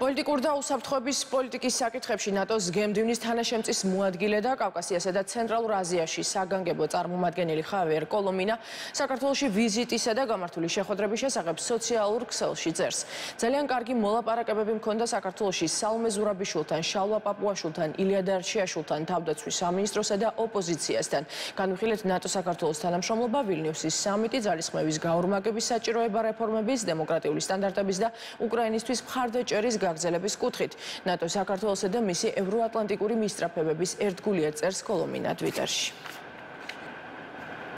პოლიტიკურ და უსაფრთხოების პოლიტიკის საკითხებში ნატოს გემდივნის თანაშემწის მოადგილე და კავკასიასა და ცენტრალურ აზიაში საგანგებო წარმომადგენელი ხავიერ კოლომინა საქართველოში ვიზიტისა და გამართული შეხვედრების შესახებ სოციალურ ქსელში წერს. ძალიან კარგი მოლაპარაკებები მქონდა საქართველოში სალომე ზურაბიშვილთან, შალვა პაპუაშვილთან, ილია დარჩიაშვილთან, თავდაცვის სამინისტროსა და ოპოზიციასთან. განვიხილეთ ნატო-საქართველოს თანამშრომლობა, ვილნიუსის სამიტი, ძალისხმევის გაორმაგების საჭიროება რეფორმების, დემოკრატიული სტანდარტების და უკრაინისთვის მხარდაჭერის გაგრძელების კუთხით. ნატო საქართველოსა და მისი ევროატლანტიკური მისწრაფებების ერთგულია წერს კოლომინა ტვიტერში.